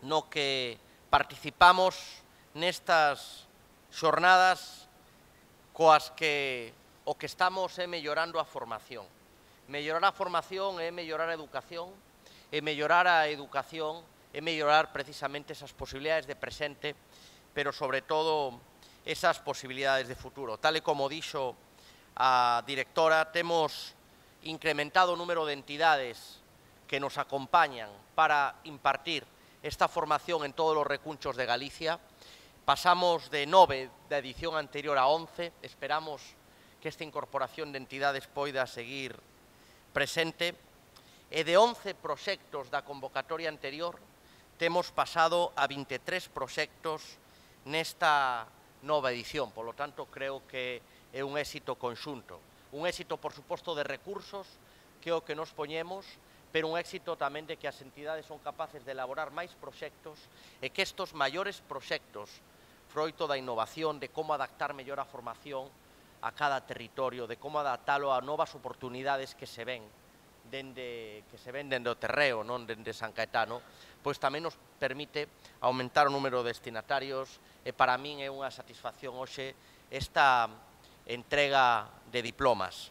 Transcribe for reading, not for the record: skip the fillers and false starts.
no que participamos nestas xornadas coas que o que estamos é mellorando a formación. Mellorar a formación é mellorar a educación, e mellorar a educación é mellorar precisamente esas posibilidades de presente, pero sobre todo esas posibilidades de futuro. Tal e como dixo a directora, temos incrementado o número de entidades que nos acompañan para impartir esta formación en todos os recunchos de Galicia. Pasamos de 9 da edición anterior a 11, esperamos que esta incorporación de entidades poida seguir presente, e de 11 proxectos da convocatoria anterior temos pasado a 23 proxectos nesta nova edición. Por lo tanto, creo que é un éxito conxunto. Un éxito, por suposto, de recursos, que é o que nos poñemos, pero un éxito tamén de que as entidades son capaces de elaborar máis proxectos e que estes maiores proxectos, froito da innovación, de como adaptar mellor a formación a cada territorio, de como adaptalo a novas oportunidades que se ven dende o terreo, non dende San Caetano, pois tamén nos permite aumentar o número de destinatarios e para min é unha satisfacción hoxe esta entrega de diplomas.